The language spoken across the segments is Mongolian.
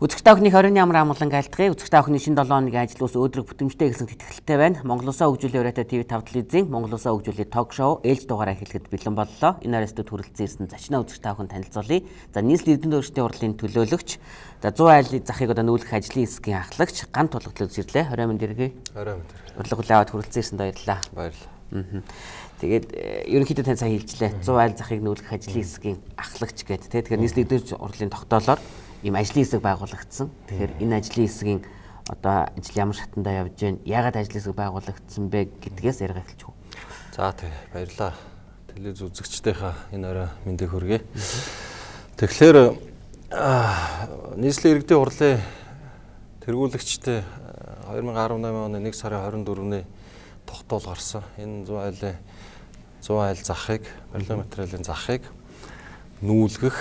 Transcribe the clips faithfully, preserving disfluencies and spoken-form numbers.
Үзэгчтэй охины хорин ямар амгалан айлтгая. Үзэгчтэй охины шинэ долоо хоногийн ажил ус өдрөг бүтэмжтэй гэсэн тэтгэлтэй байна. Монгол Улсаа хөгжүүлэх өрөөтэй ТV five телевизийн Монгол Улсаа хөгжүүлэх ток шоу ээлж дугаараа эхлэхэд бэлэн боллоо. Энэ арест хүрэлцэн ирсэн зочноо үзэгчтэй охин танилцуулъя. За нийслэл эрдэнэ өөрчлөлтийн урлагийн төлөөлөгч, за сто айлын захыг одоо нүүлгэх ажлын хэсгийн ахлагч Ган тулгал үзэрлээ. Орой минь дэргэе. Орой минь дэргэе. Урлаг улаавад хүрэлцэн ирсэнд баярлалаа. Баярлалаа. Тэгээд ерөнхийдөө тань сайн хэлжлээ. сто айл захыг нүүлгэх ажлын хэсгийн ахлагч гэдэг. Тэгэхээр нийслэл эрдэнэ урлагийн тогтоолоор ийм ажлын хэсэг байгуулагдсан. Тэгэхээр энэ ажлын хэсгийн одоо ажил ямар шатандаа явж байна? Яагаад ажлын хэсэг байгуулагдсан бэ гэдгээс яриа эхэлчих үү. За тий баярлалаа. Телевиз үзэгчдийнхаа энэ орой мэндийг хүргэе. Тэгэхээр нийслэлийн иргэдийн хурлын тэргүүлэгчтэй two thousand eighteen оны нэг сарын twenty-fourны тогтоол гарсан. Энэ сто айлын сто айл захыг, барилгын материалын захыг нүүлгэх,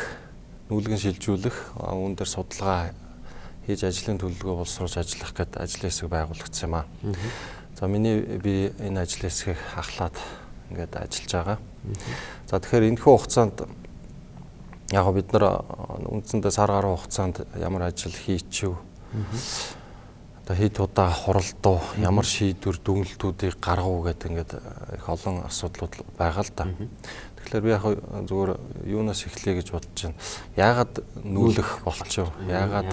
нүүлгэн шилжүүлэх, үүн дээр судалгаа хийж ажлын төлөвлөгөө боловсруулж ажиллах гэдэг ажлын хэсэг байгуулагдсан юм аа. За миний би энэ ажлын хэсгийг ахлаад ингээд ажиллаж байгаа. За тэгэхээр энэхүү хугацаанд яг бид нар үндсэндээ сар гаруй хугацаанд ямар ажил хийчихв. Одоо хэд удаа хуралдуу, ямар шийдвэр дүгнэлтүүдийг гаргав гэдэг ингээд их олон асуудлууд байгаа л да. Тэгэхээр би яг зүгээр юунаас эхлэе гэж бодож байна. Яагаад нүүлэх болчихв? Яагаад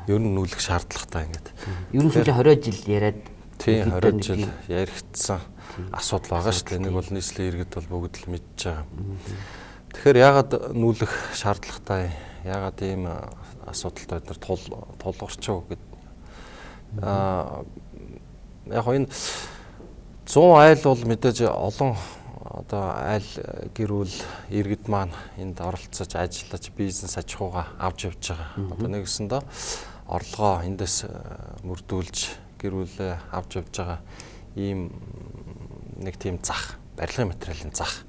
ер нь нүүлэх шаардлагатай ингээд. Ер нь сүүлийн twenty жил яриад тийм twenty жил яригдсан асуудал байгаа шүү дээ. Энийг бол нийслэлийн иргэд бол бүгд л мэдж байгаа. Тэгэхээр яагаад нүүлэх шаардлагатай? Яагаад ийм асуудалтай бид нар тулгарчив гэдэг. Аа яг энэ сто айл бол мэдээж олон одоо айл гэрүүл иргэд маань энд оролцож ажиллаж бизнес аж ахуйгаа авч явж байгаа. Одоо нэгсэндээ орлогоо эндээс мөрдүүлж гэрүүлээ авч явж байгаа ийм нэг тийм зах, барилгын материалын зах.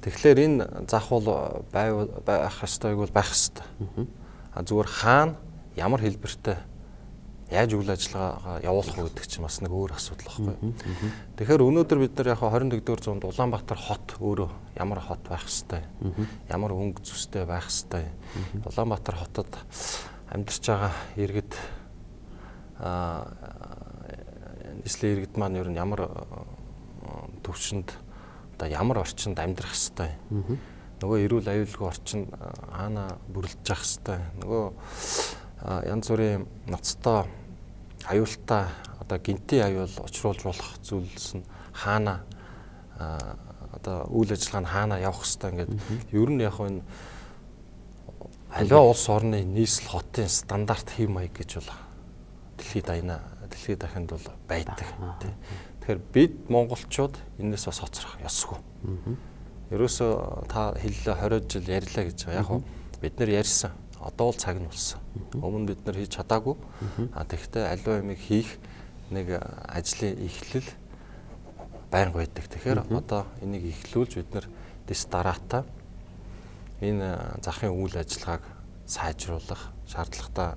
Тэгэхээр энэ зах бол байх ёстойг бол байх ёстой. А зүгээр хаана ямар хэлбэртэй яаж үйл ажиллагаагаа явуулах вэ гэдэг чинь бас нэг өөр асуудал байхгүй. Тэгэхээр өнөөдөр бид нар яг twenty-first зуунд Улаанбаатар хот өөрөө ямар хот байх ёстой, ямар өнгө зүстэй байх ёстой. Улаанбаатар хотод амьдарч байгаа иргэд аа нийслэлийн иргэд маань ер нь ямар төвшөнд одоо ямар орчинд амьдрах ёстой. Нөгөө эрүүл аюулгүй орчинд хаана бүрлдэж явах ёстой. Нөгөө янз бүрийн ноцтой аюултай одоо гинтийн аюул учруулж болох зүйлс нь хаана одоо үйл ажиллагаа нь хаана явах хэвээр ингээд ер нь яг энэ аливаа улс орны нийслэл хотын стандарт хэв маяг гэж бол дэлхийд дайна дэлхийд дахинд бол байдаг. Тэгэхээр бид монголчууд энэс бас хоцрох ёсгүй. Ерөөсөө та хэллээ twenty жил ярьлаа гэж байгаа. Яг нь бид нэр ярьсан. Одоо л цаг нь болсон. Өмнө бид нар хийж чадаагүй. А тэгэхдээ аливаа юмыг хийх нэг ажлын эхлэл байнга байдаг. Тэгэхээр одоо энийг эхлүүлж бид нар дэс дараатаа энэ захын үйл ажиллагааг сайжруулах, шаардлагатай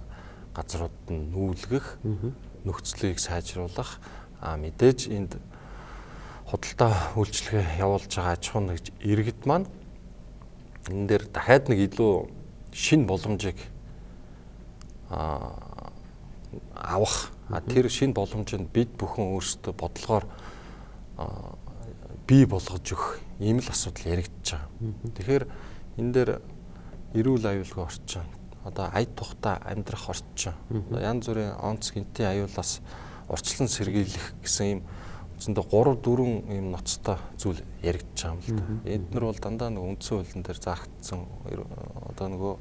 газруудад нь нүүлгэх, нөхцөлийг сайжруулах, а мэдээж энд худалдаа үйлчилгээ явуулж байгаа аж ахуйн нэгж иргэд маань энэ дээр дахиад нэг илүү шинэ боломжийг авах, тэр шинэ боломжинд бид бүхэн өөрсдөө бодлогоор бий болгож өгөх ийм л асуудал яригдж байгаа. Тэгэхээр энэ дээр эрүүл аюулгүй орчин, одоо ая тухтай амьдрах орчин, янз бүрийн онц гинтийн аюулаас урьдчилан сэргийлэх гэсэн ийм үндсэндээ three four ийм ноцтой зүйл яригдж байгаа юм л да. Эднэр бол дандаа нэг үндсэн хуулийн дээр заагдсан одоо нөгөө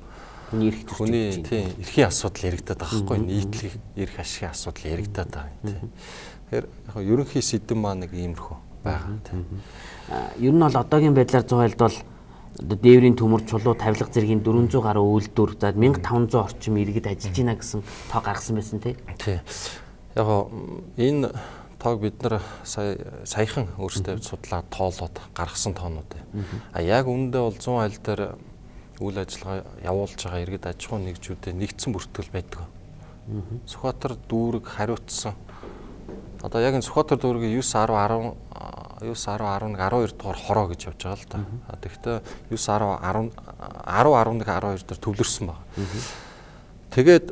хүний тийм эрхийн асуудал яригдаад байгаа байхгүй, нийтлэг эрх ашигын асуудал яригдаад байгаа тийм. Тэгэхээр яг ерөнхий сэдэв маань нэг иймэрхүү байгаа тийм. Ер нь бол одоогийн байдлаар сто айлд бол одоо дээврийн төмөр чулуу тавилга зэргийн four hundred гаруй үйлдвэр, за fifteen hundred орчим иргэд ажиллаж байна гэсэн тоо гаргасан байсан тийм. Тийм. Яг энэ тоог бид нар сая саяхан өөрсдөө судлаад тоолоод гаргасан тоонууд байна. А яг үүндээ бол сто айл дээр үйл ажиллагаа явуулж байгаа иргэд аж ахуйн нэгжүүдэд нэгдсэн бүртгэл байдаг. Сүхбаатар дүүрэг хариуцсан. Одоо яг энэ Сүхбаатар дүүргийн nine ten eleven nine ten eleven twelve дугаар хороо гэж явж байгаа л да. Тэгэхдээ nine ten ten eleven eleven дээр төвлөрсөн байна. Тэгээд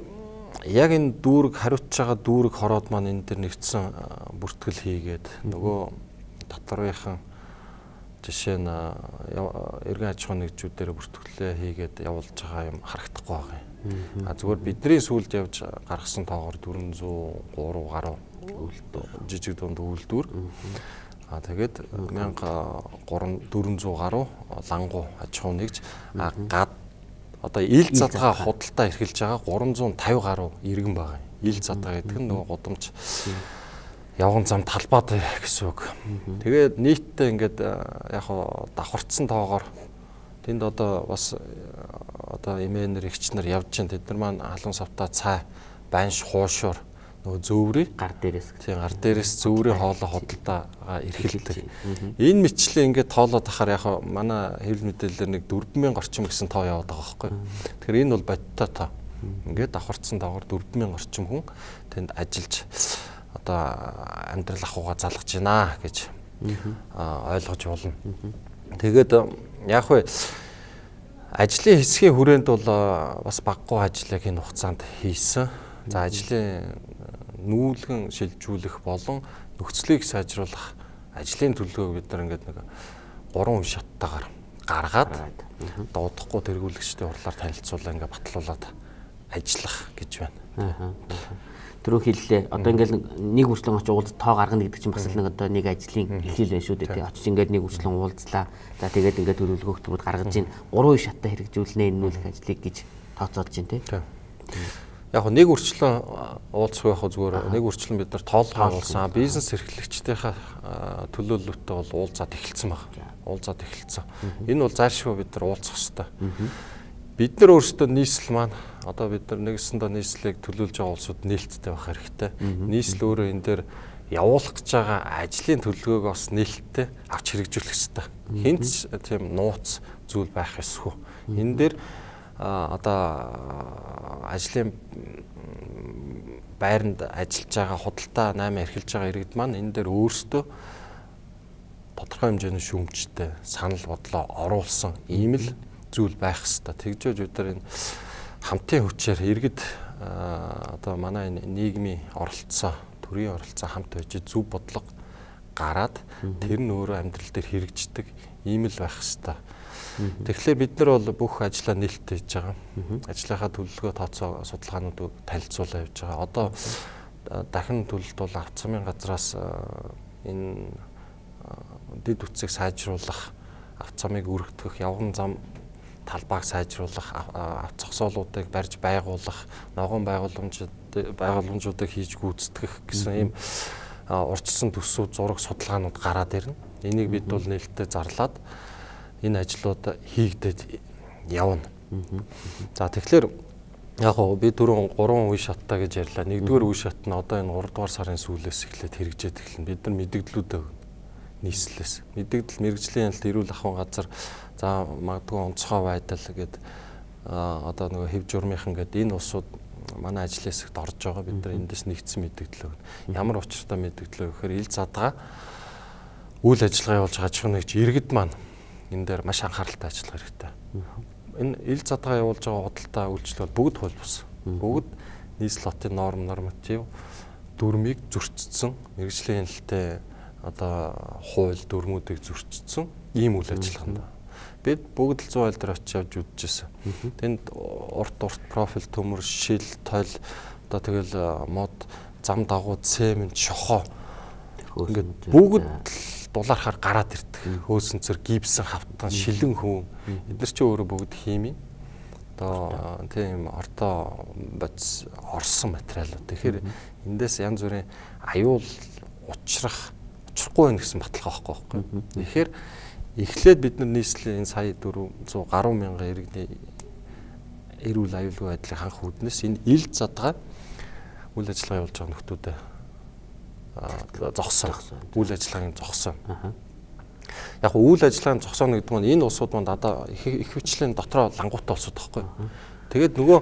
яг энэ дүүрэг хариуцж байгаа дүүрэг хороод маань энэ дэр нэгдсэн бүртгэл хийгээд нөгөө доторынхан жишээ нь эргэн аж ахуйн нэгжүүдээр бүртгэлээ хийгээд явуулж байгаа юм харагдахгүй байгаа юм. А зүгээр бидний сүүлд явж гаргасан тоогоор дөрвөн зуун гурав гаруй жижиг дунд үйлдвэр. А тэгээд мянга дөрвөн зуун гаруй лангу аж ахуй нэгж гад одоо ил задгаа худалдаа эрхэлж байгаа гурван зуун тавь гаруй иргэн байгаа. Ил задгаа гэдэг нь нөгөө гудамж явган зам талбайд гэсэн үг. Тэгээд нийтдээ ингээд яг хаа давхарцсан тоогоор тэнд одоо бас одоо эмээнэр эгч нар явж чинь тэд нар маань халуун савтаа цай банш хуушуур нөгөө зөөврий гар дээрээс тийм гар дээрээс зөөврийн хоолой худалдаагаа эрхэлдэг. Энэ мэтчлээ ингээд тоолоод ахаар яг хаа манай хэвлэл мэдээлэлээр нэг дөрвөн мянган орчим гэсэн тоо яваад байгаа байхгүй. Тэгэхээр энэ бол бодиттой тоо. Ингээд давхарцсан тоогоор дөрвөн мянган орчим хүн тэнд ажиллаж одоо амьдрал ахуйгаа залгаж байна гэж ойлгож болно. Тэгээд яг вэ ажлын хэсгийн хүрээнд бол бас баггүй ажлыг энэ хугацаанд хийсэн. За ажлын нүүлгэн шилжүүлэх болон нөхцөлийг сайжруулах ажлын төлөвөө бид нар ингээд нэг гурван үе шаттайгаар гаргаад дуудахгүй тэргүүлэгчдийн хурлаар танилцуулаа ингээд батлуулаад ажиллах гэж байна. Түрүү хэллээ. Одоо ингээл нэг үрчлэн очиж уулз тоо гаргана гэдэг чинь бас л нэг одоо нэг ажлын эхлэл байна шүү дээ. Очиж ингээд нэг үрчлэн уулзлаа. За тэгээд ингээд төлөвлөгөө хөтөлбөрөд гаргаж ийн гурван шаттай хэрэгжүүлнэ энэ нүүлэх ажлыг гэж тооцоолж байна тий. Яг нэг үрчлэн уулзах байх зүгээр нэг үрчлэн бид нар тоолгоо уулсан. Бизнес эрхлэгчдийнхаа төлөөлөлтөд бол уулзаад эхэлсэн байна. Уулзаад эхэлсэн. Энэ бол заашгүй бид нар уулзах хэрэгтэй. Бид нар өөрсдөө нийслэл маань одоо бид нар нэгсэндээ нийслэлийг төлөөлж байгаа улсууд нээлттэй байх хэрэгтэй. Нийслэл өөрөө энэ дээр явуулах гэж байгаа ажлын төлөвлөгөөг бас нээлттэй авч хэрэгжүүлэх хэрэгтэй. Хинт тийм нууц зүйл байх ёсгүй. Энэ дээр одоо ажлын байранд ажиллаж байгаа худалдаа наймаа эрхэлж байгаа иргэд маань энэ дээр өөрсдөө тодорхой хэмжээний шүүмжтэй санал бодлоо оруулсан ийм л зүйл байх хэвээр. Тэгжээж бид нар энэ хамтын хүчээр иргэд одоо манай энэ нийгмийн оролцоо, төрийн оролцоо хамт байж зөв бодлого гараад тэр нь өөрөө амьдрал дээр хэрэгждэг ийм л байх хэвээр. Тэгэхээр бид нар бол бүх ажлаа нээлттэй хийж байгаа. Ажлынхаа төлөвлөгөө тооцоо судалгаануудыг танилцуулаад явж байгаа. Одоо дахин төлөлт бол авц замын газраас энэ дэд үтсийг сайжруулах, авц замыг өргөдөх, явган зам талбайг сайжруулах, авц зогсоолуудыг барьж байгуулах, ногоон байгууламжууд байгууламжуудыг хийж гүйцэтгэх гэсэн ийм урьдчилсан төсөв зураг судалгаанууд гараад ирнэ. Энийг бид бол нээлттэй зарлаад энэ ажлууд хийгдээд явна. За тэгэхээр яг гоо би түрүүн гурван үе шаттай гэж ярьлаа. Нэгдүгээр үе шат нь одоо энэ гурав дугаар сарын сүүлээс эхлээд хэрэгжээд эхэлнэ. Бид нар мэдээллүүдээ нийслэлээс мэдээлэл мэрэгжлийн яналт эрүүл ахуйн газар за магадгүй онцгой байдал гэдэг одоо нөгөө хэв журмынхан гэдэг энэ улсууд манай ажлын хэсэгт орж байгаа. Бид нар эндээс нэгдсэн мэдээлэл өгнө. Ямар учиртай мэдээлэл өгөхөөр ил задгаа үйл ажиллагаа явуулж байгаа аж ахуйн нэгж иргэд маань энэ дээр маш анхааралтай ажиллах хэрэгтэй. Энэ ил задгаа явуулж байгаа худалдаа үйлчлэл бүгд хууль бус. Бүгд нийслэл хотын норм норматив дүрмийг зөрчсөн, мэргэжлийн яналттай одоо хууль дүрмүүдийг зөрчсөн ийм үйл ажиллагаанд. Бид бүгд л зуун айл дээр очиж явж үзчихсэн. Тэнд урт урт профиль төмөр, шил, тойл одоо тэгэл мод, зам дагуу, цемент, шохоо ингээд бүгд дулаархаар гараад ирдэг. Хөөсөнцөр гипсэн хавтан, шилэн хүн. Эдгээр чи өөрөө бүгд хими. Одоо тийм орто бодис орсон материалууд. Тэгэхээр эндээс янз бүрийн аюул учрах, учрахгүй байх гэсэн баталгаа байхгүй байхгүй. Тэгэхээр эхлээд бид нар нийслэлийн энэ сая дөрвөн зуун гаруй мянган иргэний эрүүл аюулгүй байдлыг ханх үүднээс энэ ил задгаа үйл ажиллагаа явуулж байгаа нөхдүүдэд зогсоо. Үйл ажиллагааг зогсоо. Яг үйл ажиллагааг зогсооно гэдэг нь энэ улсууд манд одоо их их хвчлэн дотроо лангуутай улсууд байхгүй. Тэгээд нөгөө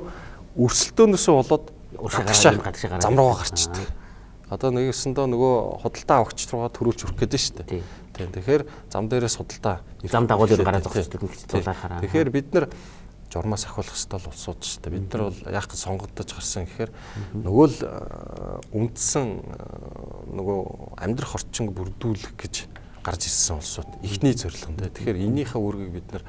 өрсөлдөөнөөсөө болоод гадагшаа зам руугаа гарчдаг. Одоо нэгэсэндээ нөгөө худалдаа авагч руугаа төрүүлж өрөх гэдэг нь шүү дээ. Тийм. Тэгэхээр зам дээрээс худалдаа зам дагуулж гараад зогсчихдаг гэж тулаахаараа. Тэгэхээр бид нар журмаас ахиулах ёстой л улсууд шүү дээ. Бид нар бол яг сонгогдож гарсан гэхээр нөгөө л үндсэн нөгөө амьдрах орчинг бүрдүүлэх гэж гарч ирсэн улсууд ихний зорилго нь. Тэгэхээр энийхээ үүргийг бид нар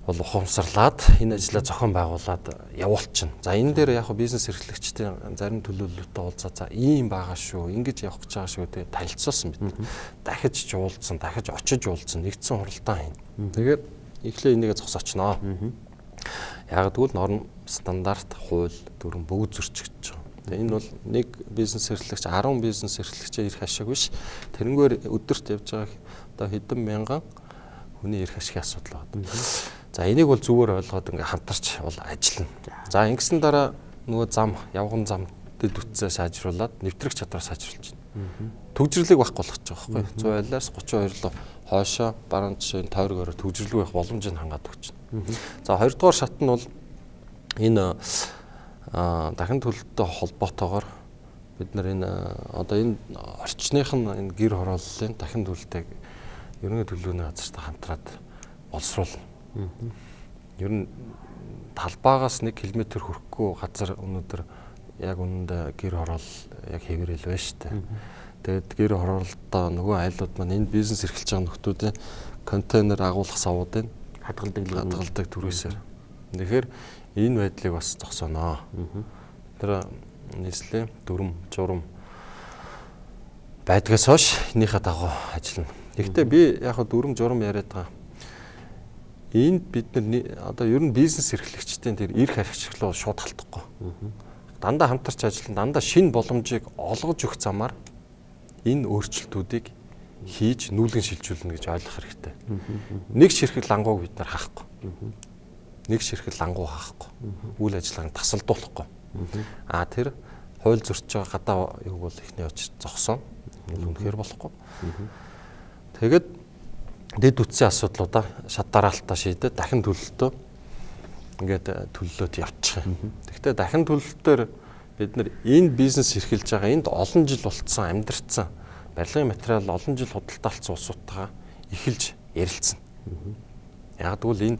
бол ухамсарлаад энэ ажлаа зохион байгуулад явуулчихна. За энэ дээр яг бизнес эрхлэгчдийн зарим төлөөлөлтөд уулзаа за ийм байгаа шүү, ингэж явах гэж байгаа шүү гэдэг танилцуулсан бид. Дахиж жуулцсан, дахиж очиж уулзсан, нэгдсэн хуралдаан хийн. Тэгээд эхлээ энийгээ зогсоочноо. Яг тэгвэл норм, стандарт, хууль, дүрм бүгд зөрчигдөж байгаа. Тэгээ энэ бол нэг бизнес эрхлэгч арван бизнес эрхлэгчээ ирэх ашиг биш. Тэрнгээр өдөрт явж байгаа одоо хэдэн мянган хүний ирэх ашигын асуудал байна. За энийг бол зүгээр ойлгоод ингээ хамтарч бол ажиллана. За ингэсэн дараа нөгөө зам, явган зам дэд үтсээ сайжруулад нэвтрэх чадвар сайжруулж байна. Төгжрлийг байхгүй болгож байгаа байхгүй. цус айлаас гучин хоёр руу хойшоо баруун жишээ тойргоор төгжрлгүй байх боломжийг хангаад өгч байна. За хоёрдугаар шат нь бол энэ дахин төлөлтөд холбоотойгоор бид нар энэ одоо энэ орчных нь энэ гэр хорооллын дахин төлөлтийг ерөнхий төлөвлөгөөний газартай хамтраад боловсруулна. Ер нь талбаагаас нэг километр хүрэхгүй газар өнөөдөр яг үнэндээ гэр хороол яг хэвээрэл байна шүү дээ. Тэгээд гэр хороолтоо нөгөө айлууд маань энэ бизнес эрхэлж байгаа нөхдүүдийн контейнер агуулах савуудыг хадгалдаг хадгалдаг түрээсээр. Тэгэхээр энэ байдлыг бас зогсооноо. Тэр нийслэлийн дүрм, журам байдгаас хойш энийхээ дагуу ажиллана. Гэхдээ би яг дүрм, журам яриад байгаа. Энд бид нар одоо ер нь бизнес эрхлэгчдийн тэр эрх ашиглал шууд халтахгүй. Дандаа хамтарч ажиллана, дандаа шинэ боломжийг олгож өгөх замаар энэ өөрчлөлтүүдийг хийж нүүлгэн шилжүүлнэ гэж ойлгох хэрэгтэй. Нэг ширхэг лангууг бид нар хаахгүй. Нэг ширхэг лангуу хаахгүй. Үйл ажиллагааг тасалдуулахгүй. А тэр хууль зөрчиж байгаа гадаа юуг бол ихний очир зогсоо. Үнэхээр болохгүй. Тэгээд дэд үтсийн асуудлуудаа шат дараалтаа шийдээд дахин төлөлтөө ингээд төлөлөөд явчих. Гэхдээ дахин төлөлтөөр бид нар энэ бизнес эрхэлж байгаа энд олон жил болцсон амьдарцсан барилгын материал олон жил худалдаалцсан улсуудтайгаа эхэлж ярилцсан. Яг тэгвэл энэ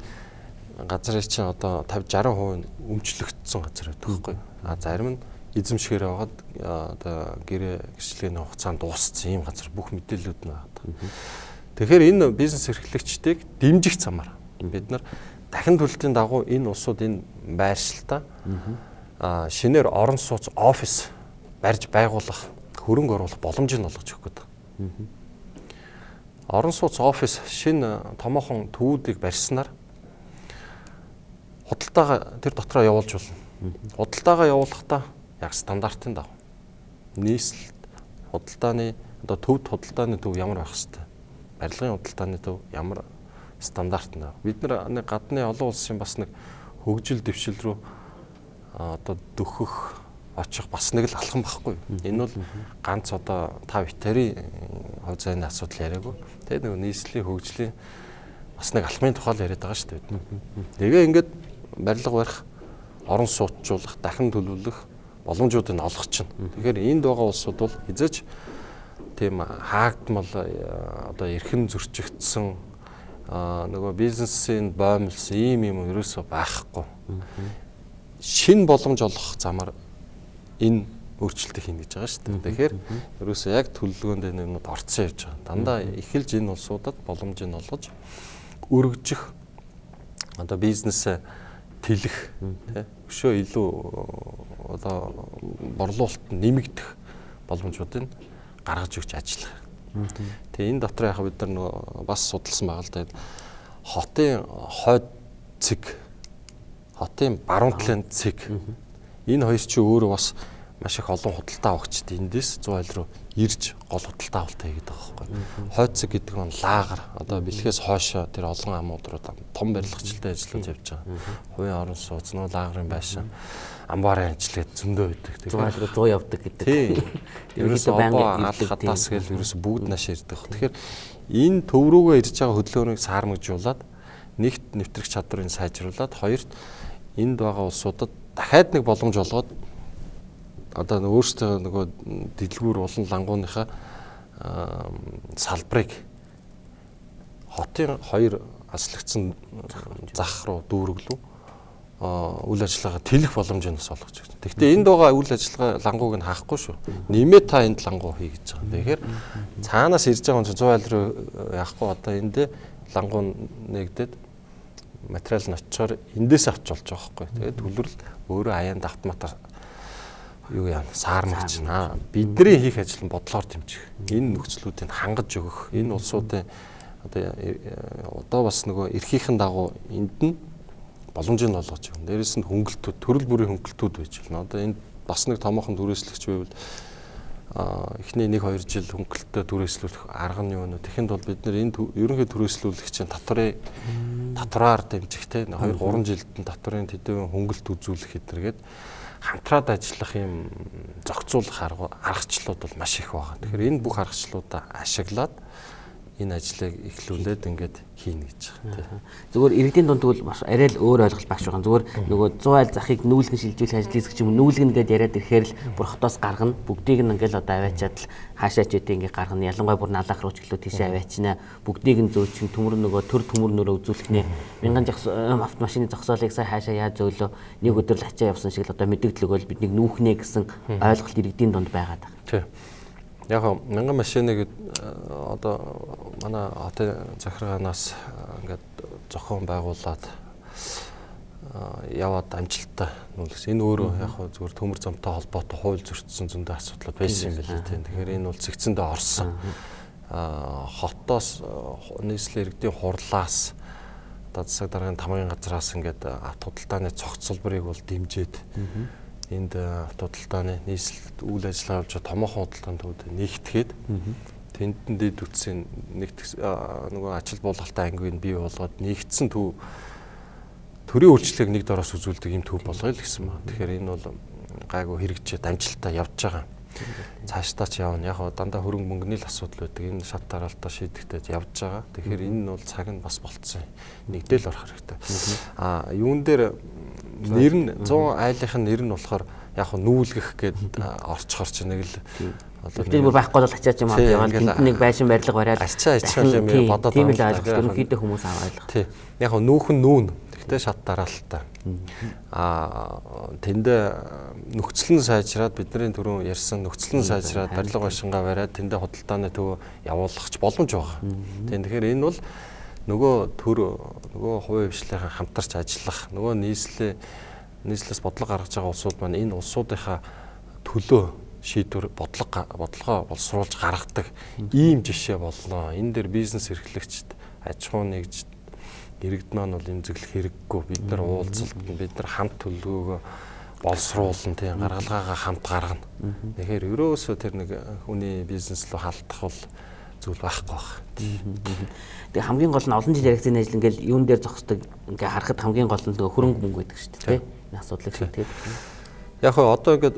газрын чинь одоо тавьж шаран хувь өмчлөгдсөн газар байхгүй. А зарим нь эзэмшгээр байгаад одоо гэрээ гэрчлэгийн хугацаанд дууссан ийм газар бүх мэдээллүүд нь байна. Тэгэхээр энэ бизнес эрхлэгчдийг дэмжих замаар бид нар дахин төлөлтийн дагуу энэ улсууд энэ байршилтаа шинээр орон сууц офис барьж байгуулах, хөрөнгө оруулах боломжийг олгож өгөх гэдэг. Орон сууц офис шинэ томоохон төвүүдийг барьснаар худалдаага тэр дотроо явуулж болно. Худалдаагаа явуулахдаа яг стандартын дагуу нийслэл худалдааны одоо төвд худалдааны төв ямар байх хэвээр барилгын худалдааны төв ямар стандарт нэ. Бид нар нэг гадны олон улсын бас нэг хөгжил дэвшил рүү одоо дөхөх очих бас нэг л алхам байхгүй. Энэ бол ганц одоо та ветерийн хувь зайны асуудал яриаггүй. Тэгээ нэг нийслэлийн хөгжлийн бас нэг алхмын тухай л яриад байгаа шүү дээ. Тэгээ ингээд барилга барих, орон сууцжуулах, дахин төлөвлөх боломжуудыг олгох чинь. Тэгэхээр энд байгаа улсууд бол хязгаарч тийм хаагдмал одоо эрхэм зөрчигдсөн нөгөө бизнесийн боомлсон ийм юм ерөөсөө байхгүй. Шинэ боломж олгох замаар энэ өөрчлөлтийг хийнэ гэж байгаа шүү дээ. Тэгэхээр ерөөсөө яг төлөвлөгөөнд энэ юмуд орцсон явж байгаа. Дандаа эхэлж энэ улсуудад боломжийг олгож өргөжих одоо бизнесээ тэлэх тий өшөө илүү одоо борлуулалт нэмэгдэх боломжуудыг гаргаж өгч ажиллах. Тэгээ энэ дотор яг бид нар нөгөө бас судалсан байгаа л да. Хотын хойд цэг, хотын баруун талын цэг. Энэ хоёр чи өөрөө бас маш их олон худалдаа авагчд эндээс цус айл руу ирж гол худалдаа авалт хийгээд байгаа байхгүй. Хойд цэг гэдэг нь лагер одоо бэлхээс хоошоо тэр олон амууд руу том барилгачлалтай ажлууд явж байгаа. Хувийн орон сууц нөө лагерын байшин амбарын ажиллагаа зөндөө байдаг. Тэгэхээр зуу явдаг гэдэг. Тийм. Ерөөсөө обоо аль хатаас гээл ерөөсөө бүгд нааш ирдэг. Тэгэхээр энэ төв рүүгээ ирж байгаа хөдөлгөөнийг саармагжуулаад нэгт нэвтрэх чадварыг сайжруулад хоёрт энд байгаа улсуудад дахиад нэг боломж олгоод одоо өөрсдөө нөгөө дэлгүүр олон лангууныхаа салбарыг хотын хоёр аслагдсан зах руу дүүрэглүү үйл ажиллагаа тэлэх боломжийг бас олгож байна. Гэхдээ энд байгаа үйл ажиллагаа лангууг нь хаахгүй шүү. Нэмээд та энд лангуу хий гэж байгаа. Тэгэхээр цаанаас ирж байгаа хүн чинь цувал руу яахгүй одоо эндээ лангуу нэгдээд материал нь очичоор эндээс авч болж байгаа байхгүй. Тэгээд төлөвлөл өөрөө аяанд автоматар юу яа саармагч наа бидний хийх ажил нь бодлоор дэмжих. Энэ нөхцлүүдийг хангаж өгөх. Энэ улсуудын одоо одоо бас нөгөө эрхийнхэн дагуу энд нь боломжийг нь олгож байна. Дээрээс нь хөнгөлтүүд, төрөл бүрийн хөнгөлтүүд байж байна. Одоо энд бас нэг томоохон түрээслэгч байвал а эхний нэг хоёр жил хөнгөлтөд түрээслүүлэх арга нь юу вэ? Тэгэхэд бол бид нэр энэ ерөнхий түрээслүүлэгчийн татврын татвараар дэмжих те хоёр гурван жилд нь татврын төдөө хөнгөлт үзүүлэх гэдэргээд хамтраад ажиллах юм зохицуулах аргачлалууд бол маш их байгаа. Тэгэхээр энэ бүх аргачлалуудаа ашиглаад энэ ажлыг эхлүүлээд ингээд хийнэ гэж байгаа. Зүгээр иргэдийн дунд тэгвэл маш арай л өөр ойлголт багш байгаа. Зүгээр нөгөө цуу айл захыг нүүлгэн шилжүүлэх ажил хийх юм нүүлгэн гэдээ яриад ирэхээр л бүр хотоос гаргана. Бүгдийг нь ингээл одоо аваачаад л хаашаач үдэ ингээд гаргана. Ялангуяа бүр наалах руу ч гэлөө тийшээ аваачнаа. Бүгдийг нь зөөчин төмөр нөгөө төр төмөр нөрөө үзүүлэх нэ. Мянган автомашины зогсоолыг сая хаашаа яаж зөөлөө нэг өдөр л ачаа явсан шиг л одоо мэдээлэл өгөөл биднийг нүүхнэ гэсэн ойлголт иргэдийн дунд байгаад байна. Тийм. Яг мянган машиныг одоо манай хотын захиргаанаас ингээд зохион байгуулад яваад амжилттай нүүлгсэн. Энэ өөрөө яг зүгээр төмөр замтай холбоотой хууль зөрчсөн зөндөө асуудал байсан юм байна тийм. Тэгэхээр энэ бол цэгцэндээ орсон. Аа хотоос нийслэлийн иргэдийн хурлаас одоо засаг даргын тамгын газраас ингээд авто худалдааны цогц салбарыг бол дэмжиж энд авто худалдааны нийслэлд үйл ажиллагаа явуулж томоохон худалдааны төвд нэгтгэхэд тэнд дэд үтсийн нэгт нөгөө ачаал буулгалтай ангиг бий болгоод нэгдсэн төв төрийн үйлчлэгийг нэг дороос үзүүлдэг юм төв болгоё л гэсэн байна. Тэгэхээр энэ бол гайгүй хэрэгжээд амжилттай явж байгаа. Цаашдаа ч явна. Яг дандаа хөрөнгө мөнгөний л асуудал байдаг. Энэ шат дараалтаа шийдэхтэй явж байгаа. Тэгэхээр энэ нь бол цаг нь бас болцсон. Нэгдэл орох хэрэгтэй. А юун дээр нэр нь зуун айлынхын нэр нь болохоор яг нүүлгэх гээд орчхор ч нэг л тэр бүр байхгүй бол ачаач юм аа яваад тэнд нэг байшин барилга бариад ачаа ачаал юм бодоод тийм л ойлгох ерөнхийдөө хүмүүс аваад. Тий. Яг нүүхэн нүүн гэхдээ шат дараалтаа. Аа тэндээ нөхцөл нь сайжраад бидний түрүүн ярьсан нөхцөл нь сайжраад барилга байшингаа бариад тэндээ худалдааны төв явуулахч боломж байгаа. Тийм тэгэхээр энэ бол нөгөө төр нөгөө хувийн хвшлийнхаа хамтарч ажиллах нөгөө нийслэлийн нийслэлээс бодлого гаргаж байгаа улсууд маань энэ улсуудынхаа төлөө шийдвэр бодлого бодлогоо боловсруулж гаргадаг ийм жишээ болно. Энэ дээр бизнес эрхлэгчд аж ахуй нэгж иргэд маань бол эмзэглэх хэрэггүй. Бид нар уулзалт бид нар хамт төлөвлөгөөгөө боловсруулна тийм гаргалгаагаа хамт гаргана. Тэгэхээр ерөөсөө тэр нэг хүний бизнес рүү халдах бол зүйл байхгүй баг. Тэгээ хамгийн гол нь олон жил яригдсан ажил ингээл юун дээр зогсдог ингээ харахад хамгийн гол нь хөрөнгө мөнгө байдаг шүү дээ тийм. Энэ асуудлыг шийдгээд. Яг хөө одоо ингээд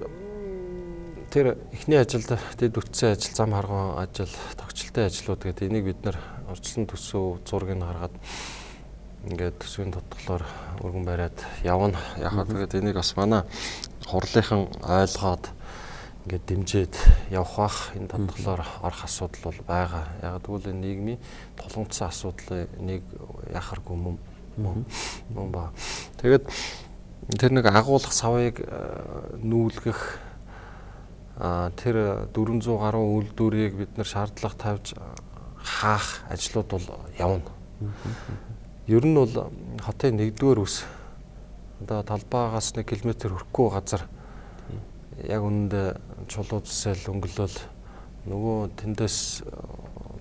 тэр эхний ажилд дэд үтсэн ажил, зам харгуун ажил, тогтчлолтын ажлууд гэдэг энийг бид нар урьдчилан төсөв зургийг харгаад ингээд төсвийн тодглоор өргөн бариад явна. Яг тэгээд энийг бас манай хурлынхан ойлгоод ингээд дэмжиж явах бах энэ тодглоор орох асуудал бол байгаа. Яг тэгвэл энэ нийгмийн тулгымцсан асуудлыг нэг яхаргүй мөн мөн ба. Тэгээд тэр нэг агуулгах савыг нүүлгэх а тэр дөрвөн зуун гаруй үйлдвэрийг бид нар шаардлага тавьж хаах ажлууд бол явна. Ер нь бол хотын нэгдүгээр үс одоо талбайгаас нэг километр хөрөхгүй газар яг үүнд чулуу зүсэл өнгөлөөл нөгөө тэндээс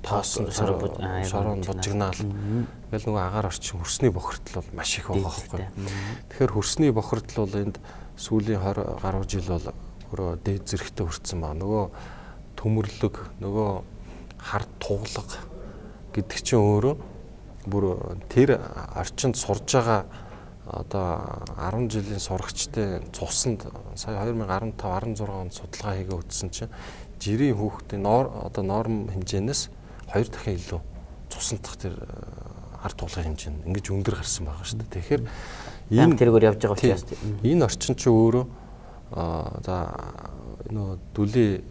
тоосон шорон бужигнаал ингээл нөгөө агаар орчин хөрсний бохирдол бол маш их байгаа байхгүй. Тэгэхээр хөрсний бохирдол бол энд сүүлийн двадцать гаруй жил бол өөрөө дээд зэрэгтэй хүрсэн ба нөгөө төмөрлөг нөгөө хард туглаг гэдэг чинь өөрөө бүр тэр орчинд сурж байгаа одоо десять жилийн сурагчдын цуснд сая two thousand fifteen16 онд судалгаа хийгээ үтсэн чинь жирийн хүүхдийн одоо норм хэмжээнээс хоёр дахин илүү цусндах тэр ард тулгын хэмжээ нь ингэж өндөр гарсан байгаа шүү дээ. Тэгэхээр энэ тэргээр явж байгаа учраас энэ орчин чинь өөрөө за нөө дүлийн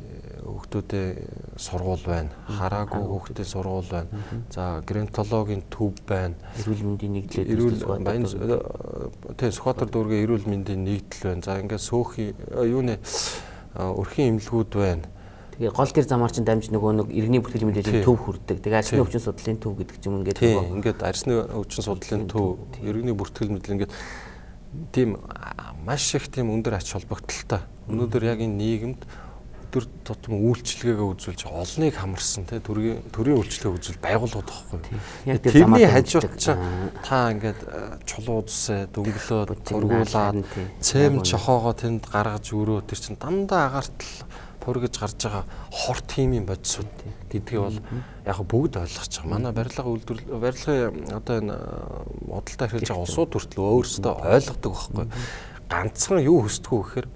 хүүхдүүдийн сургууль байна. Хараагүй хүүхдийн сургууль байна. За геронтологийн төв байна. Эрүүл мэндийн нэгдлүүд эрүүл баян тий Сүхбаатар дүүргийн эрүүл мэндийн нэгдэл байна. За ингээд сөөхий юуны өрхийн эмнэлгүүд байна. Тэгээ гол тэр замаар чинь дамж нөгөө нэг иргэний бүртгэл мэдээллийн төв хүрдэг. Тэгээ арсны өвчин судлалын төв гэдэг ч юм ингээд тий ингээд арсны өвчин судлалын төв, иргэний бүртгэл мэдээлэл ингээд тийм маш их тийм өндөр ач холбогдолтой. Өнөөдөр яг энэ нийгэмд өдөр тутам үйлчлэгээгээ үзүүлж олныг хамарсан тий төрийн төрийн үйлчлэгээ үзүүл байгууллагууд байхгүй. Тэрний хажууд ч та ингээд чулуу усээ дөнгөлөөд тургуулад цэм чохоогоо тэнд гаргаж өрөө тэр чин дандаа агартал пургэж гарч байгаа хорт химийн бодисууд гэдгийг бол яг бүгд ойлгож байгаа. Манай барилга үйлдвэрлэл барилгын одоо энэ бодолтой хэрэлж байгаа улсууд хүртэл өөрсдөө ойлгодог байхгүй. Ганцхан юу хүсдэг вэ гэхээр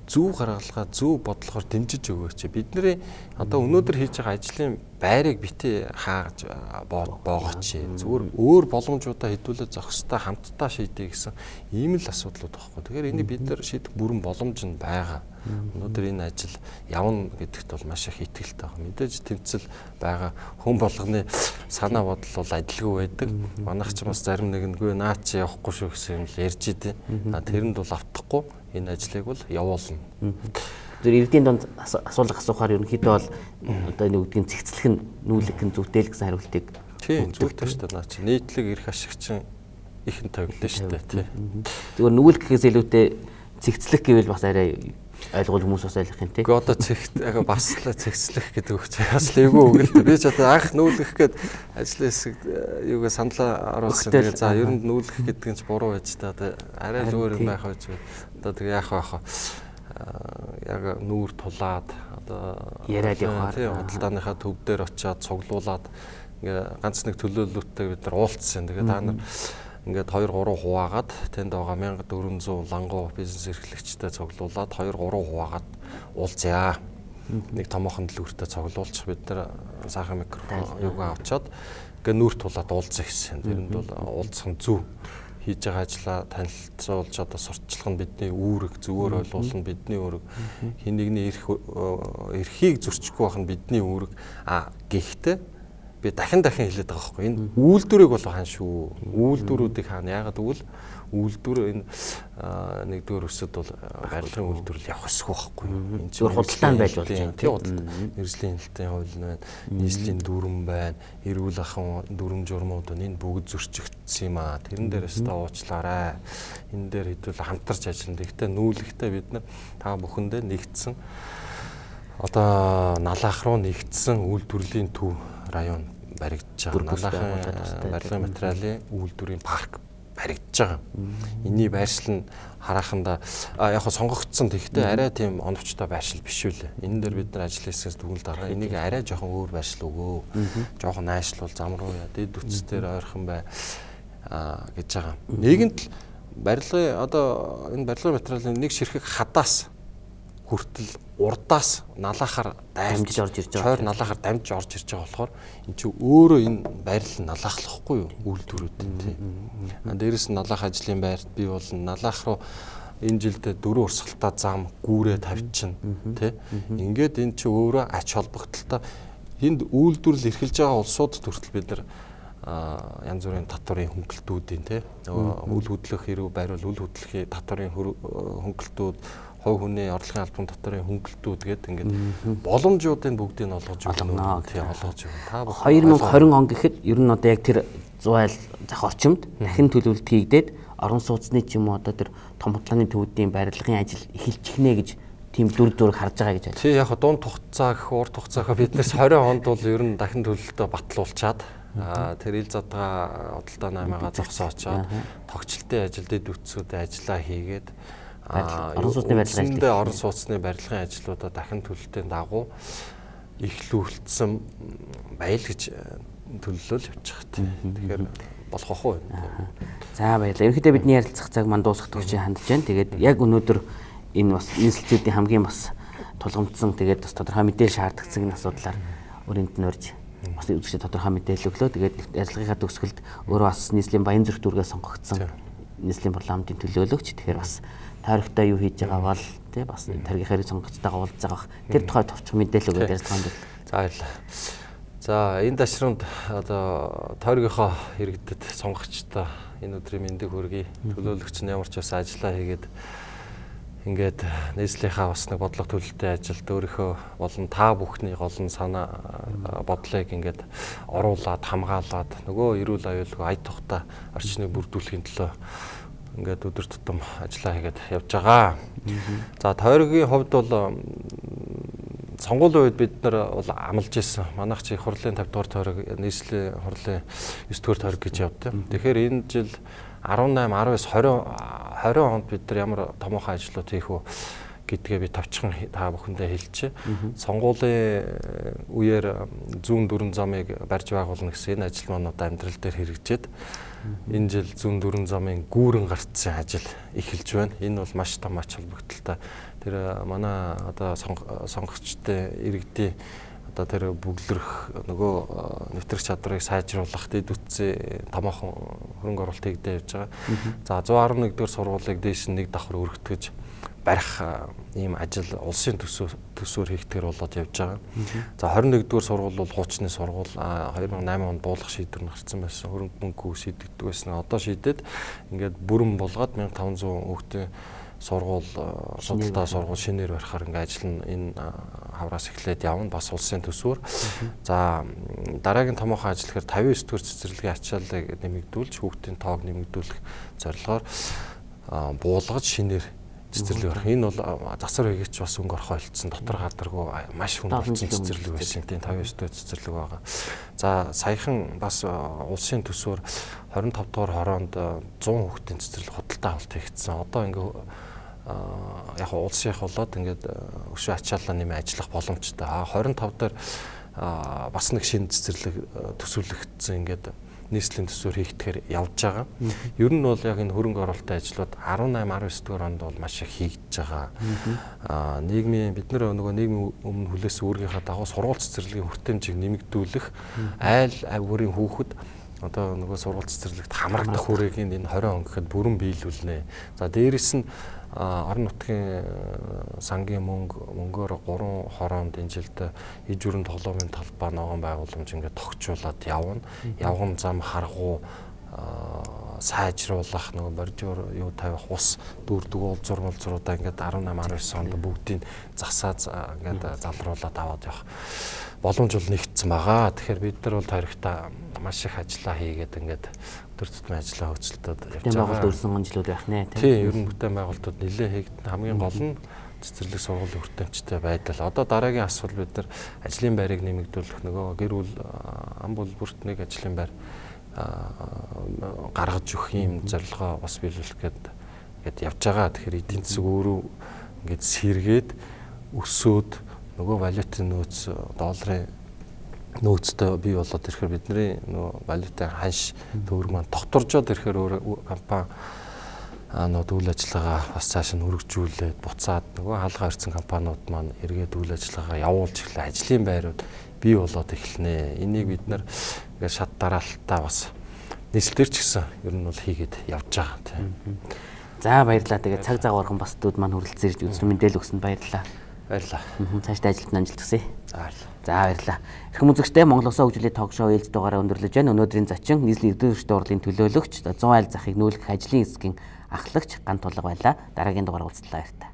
зөв гаргалгаа зөв бодлохоор дэмжиж өгөөч. Бидний одоо өнөөдөр хийж байгаа ажлын байрыг битээ хааж боогооч. Зүгээр өөр боломжуудаа хэдүүлээ зохистой хамтдаа шийдэе гэсэн ийм л асуудлууд байхгүй. Тэгэхээр энийг бид нар шийдэх бүрэн боломж нь байгаа. Өнөөдөр энэ ажил явна гэдэгт бол маш их итгэлтэй байна. Мэдээж тэмцэл байгаа хүн болгоны санаа бодол бол адилгүй байдаг. Манайх ч бас зарим нэг нэгүй наа чи явахгүй шүү гэсэн юм л ярьж идэв. Тэрэнд бол автахгүй энэ ажлыг бол явуулна. Тэр иргэдийн донд асуулга асуухаар ерөнхийдөө бол одоо нэг үгдгийн цэгцлэх нь нүүлэг нь зүвтэл гэсэн хариултыг тийм зүвтэй шүү дээ. Наа чи нийтлэг эрх ашигчин ихэн тавигдсан шүү дээ тий. Зүгээр нүүлэг гэхээс илүүтэй цэгцлэх гэвэл бас арай ойлгол хүмүүс бас ойлгох юм тий. Гэхдээ одоо цэгт яг бас л цэгцлэх гэдэг үг чинь бас л эвгүй үг л дээ. Би ч одоо анх нүүлгэх гээд ажлын хэсэг юугаа саналаа оруулсан. Тэгээ за ер нь нүүлгэх гэдэг нь ч буруу байж та одоо арай л өөр юм байх байж. Одоо тэгээ яах вэ? Яг нүүр тулаад одоо яриад явахаар тий худалдааныхаа төв дээр очиад цуглуулад ингээ ганц нэг төлөөлөлттэй бид нар уулзсан. Тэгээ та нар ингээд хоёр гурван хуваагаад тэнд байгаа мянга дөрвөн зуун лангуу бизнес эрхлэгчтэй цуглуулад хоёр гурван хуваагаад уулзъя. Нэг томоохон дэлгүүртээ цуглуулчих бид нар сайхан микрофон юугаа авчаад ингээд нүүр тулаад уулзах гэсэн. Тэрэнд бол уулзах нь зөв. Хийж байгаа ажлаа танилцуулж одоо сурталчлах нь бидний үүрэг, зөвөр ойлгуулах нь бидний үүрэг. Хин нэгний эрх эрхийг зөрчихгүй байх нь бидний үүрэг. А гэхдээ би дахин дахин хэлээд байгаа байхгүй. Энэ үйлдвэрийг бол хаана шүү? Үйлдвэрүүдийг хаана? Яагаад гэвэл үйлдвэр энэ нэгдүгээр өсөд бол барилгын үйлдвэрлэл явах ёсгүй байхгүй. Энэ зөв худалдаан байж болж байна. Тийм худалдаа. Мэргэжлийн хэлтийн хууль нь байна. Нийслэлийн дүрм байна. Эрүүл ахуйн дүрм журмууд байна. Энэ бүгд зөрчигдсөн юм аа. Тэрэн дээрээс та уучлаарай. Энэ дээр хэдүүл хамтарч ажиллана. Гэхдээ нүүлэгтээ бид нар та бүхэндээ нэгдсэн одоо налаах руу нэгдсэн үйлдвэрлэлийн төв район баригдаж байгаа. Налаахын барилгын материалын үйлдвэрийн парк баригдаж байгаа. Эний байршил нь хараханда яг хаа сонгогдсон тэгтээ арай тийм оновчтой байршил биш үлээ. Энэ дээр бид нар ажлын хэсгээс дүгнэлт гаргаа. Энийг арай жоохон өөр байршил өгөө. Жоохон найшлуул зам руу яа дэд үтцээр ойрхон бай а гэж байгаа. Нэгэнт л барилгын одоо энэ барилгын материалын нэг ширхэг хадаас хүртэл урдаас налаахаар дамжиж орж ирж байгаа. Чойр налаахаар дамжиж орж ирж байгаа болохоор эн чинь өөрөө энэ байрлал нь налаахлахгүй юу? Үйлдвэрүүд тийм. А дээрэс нь налаах ажлын байрт бий болно. Налаах руу энэ жилдээ дөрөв урсгалтай зам гүүрээ тавьчихна тий. Ингээд эн чинь өөрөө ач холбогдолтой энд үйлдвэрлэл эрхэлж байгаа улсуудад хүртэл бид нар янз бүрийн татварын хөнгөлтүүдийн тий. Үл хөдлөх хэрэг байрвал үл хөдлөхийн татварын хөнгөлтүүд хой хүний орлогын албан татварын хөнгөлтүүд гэдэг ингээд боломжуудыг бүгдийг нь олгож өгнө. Тийм олгож өгнө. Та хоёр мың и двадцать он гэхэд ер нь одоо яг тэр зуйл зах орчимд дахин төлөвлөлт хийгдээд орон сууцны ч юм уу одоо тэр том хутлааны төвүүдийн барилгын ажил эхэлчих нэ гэж тийм дүр зураг харж байгаа гэж байна. Тий яг дунд хугацаа гэх урт хугацаахаа биднээс двадцать онд бол ер нь дахин төлөвлөлтөд батлуулчаад тэр ил задгаа худалдаа наймаага зогсоочоод тогтчлтын ажил дэд үтсүүдэд ажиллаа хийгээд орон сууцны барилгын ажил орон сууцны барилгын ажлуудаа дахин төлөлтийн дагуу эхлүүлсэн баял гэж төлөвлөл явуучих. Тэгэхээр болох ах уу. За баярлалаа. Ерөнхийдөө бидний ярилцах цаг маань дуусах төгсөж хандж байна. Тэгээд яг өнөөдөр энэ бас нийслэлчүүдийн хамгийн бас тулгамдсан тэгээд бас тодорхой мэдээлэл шаардлагацсан энэ асуудлаар өрөнд нь урьж бас үзэгчид тодорхой мэдээлэл өглөө. Тэгээд ярилцлагынхаа төгсгөлд өөрөө бас нийслэлийн Баян зүрх дүүргээс сонгогдсон нийслэлийн парламентын төлөөлөгч. Тэгэхээр бас тойрогтой юу хийж байгаа бол тий бас таргийн хэрэг сонгогчтойгоо уулзж байгаа. Тэр тухай товчхон мэдээлэл өгөөд ярилцгаанд бол. За баярлалаа. За энэ ташруунд одоо тойргийнхоо иргэдэд сонгогчтой энэ өдрийн мэндийг хүргэе. Төлөөлөгч нь ямар ч бас ажиллаа хийгээд ингээд нийслэлийнхаа бас нэг бодлого төлөлтийн ажилд өөрийнхөө болон та бүхний голн санаа бодлыг ингээд оруулаад хамгаалаад нөгөө эрүүл аюулгүй ая тухтай орчныг бүрдүүлэхийн төлөө ингээд өдөр тутам ажиллаа хийгээд явж байгаа. За тойргийн хувьд бол сонгуулийн үед бид нар бол амлаж ирсэн. Манайх чи хурлын тавь дугаар тойрог нийслэлийн хурлын ёс дугаар тойрог гэж явдаг. Тэгэхээр энэ жил арван найман, арван эс, хорин хонд бид нар ямар томоохон ажлууд хийх вэ гэдгээ би тавчхан та бүхэндээ хэлчихэ. Сонгуулийн үеэр зүүн дөрвөн замыг барьж байгуулна гэсэн энэ ажил маань одоо амьдрал дээр хэрэгжээд энэ жил зүүн дөрвөн замын гүүрэн гарцсан ажил эхэлж байна. Энэ бол маш том ач холбогдолтой. Тэр манай одоо сонгогчтой иргэдийн одоо тэр бүглэрх нөгөө нэвтрэх чадварыг сайжруулах дэд үтсээ томоохон хөрөнгө оруулалт хийгдэж явж байгаа. За one eleven дугаар сургуулийг дээш нь нэг давхар өргөтгөж барих ийм ажил улсын төсөв төсвөр хийгдэхэр болоод явж байгаа. За twenty-one дугаар сургууль бол хуучны сургууль two thousand eight онд буулгах шийдвэр гарсан байсан. Хөрөнгө мөнгө шийдэгддэг байсан. Одоо шийдээд ингээд бүрэн болгоод fifteen hundred хүүхдийн сургууль судалтай сургууль шинээр барихаар ингээд ажил нь энэ хавраас эхлээд явна бас улсын төсвөр. За дараагийн томоохон ажил гэхээр fifty-nine дугаар цэцэрлэгийн ачааллыг нэмэгдүүлж хүүхдийн тоог нэмэгдүүлэх зорилгоор буулгаж шинээр цэцэрлэг барих. Энэ бол засвар хийгч бас өнгө орхоо олцсон дотор гадаргүй маш хүнд болсон цэцэрлэг байсан. Тийм fifty-nine дугаар цэцэрлэг байгаа. За саяхан бас улсын төсвөр twenty-five дугаар хороонд one hundred хүүхдийн цэцэрлэг худалдаа авалт хийгдсэн. Одоо ингээ яг улсынх болоод ингээд өшөө ачааллаа нэмээ ажиллах боломжтой. twenty-five дээр бас нэг шинэ цэцэрлэг төсвөрлөгдсөн ингээд нийслэлийн төсвөр хийгдэхээр явж байгаа. Ер нь бол яг энэ хөрөнгө оруулалтын ажлууд eighteen nineteen дугаар онд бол маш их хийгдэж байгаа. Аа нийгмийн бид нар нөгөө нийгмийн өмнө хүлээсэн үүргийнхаа дагуу сургууль цэцэрлэгийн хүртээмжийг нэмэгдүүлэх айл авирын хүүхэд одоо нөгөө сургууль цэцэрлэгт хамрагдах хүрээгийг энэ twenty он гэхэд бүрэн биелүүлнэ. За дээрэс нь орон нутгийн сангийн мөнгө мөнгөөр гурван хороонд энэ жилд иж бүрэн тоглоомын талбай ногоон байгууламж ингээд тогтчуулаад явна. Явган зам харгуу сайжруулах нөгөө бордюр юу тавих ус дүүрдэг уулзур молзруудаа ингээд eighteen nineteen онд бүгдийг засаа ингээд залруулаад аваад явах боломж бол нэгдсэн байгаа. Тэгэхээр бид нар бол тойрогтой маш их ажиллаа хийгээд ингээд өдөр тутмын ажиллаа хөцөлтөд явж байгаа. Байгуулалт өрсөн онцлог байх нэ. Тийм, ер нь бүтээн байгуулалтууд нэлээд хийгдэн хамгийн гол нь цэцэрлэг сургуулийн хүртээмжтэй байдал. Одоо дараагийн асуудал бид нар ажлын байрыг нэмэгдүүлэх нөгөө гэр бүл ам бүлбэрт нэг ажлын байр гаргаж өгөх юм зорилгоо бас биелүүлэх гээд гээд явж байгаа. Тэгэхээр эдийн засаг өөрөө ингээд сэргээд өсөөд нөгөө валютын нөөц долларын нөөцтэй бий болоод ирэхээр бидний нөгөө валютын ханш төгрөг маань докторжоод ирэхээр өөр компани нууд үйл ажиллагаа бас цааш нь хөргөжүүлээд буцаад нөгөө хаалгаа ирсэн компаниуд маань эргээд үйл ажиллагаа явуулж эхлэе. Ажлын байрууд бий болоод эхэлнэ. Энийг бид нар ингээд шат дараалтаа бас нийслэлээр ч гэсэн ер нь бол хийгээд явж байгаа тийм. За баярлалаа. Тэгээд цаг цагаархан бас дүүд маань хүрэлцэн ирж үзсэн мэдээлэл өгсөнд баярлалаа. Баярлалаа. Цаашдаа ажилд нь амжилт хүсье. За баярлалаа. За баярлалаа. Эрхэм үзэгчдээ Монгол Улсын хөгжлийн ток шоу ээлж дугаараа өндөрлөж байна. Өнөөдрийн зочин нийслэлийн эрдэнэ эрчим урлын төлөөлөгч one айль захыг нүүлгэх ажлын хэсгийн ахлагч Гант Тулга байлаа. Дараагийн дугаар уулзлаа баяртай.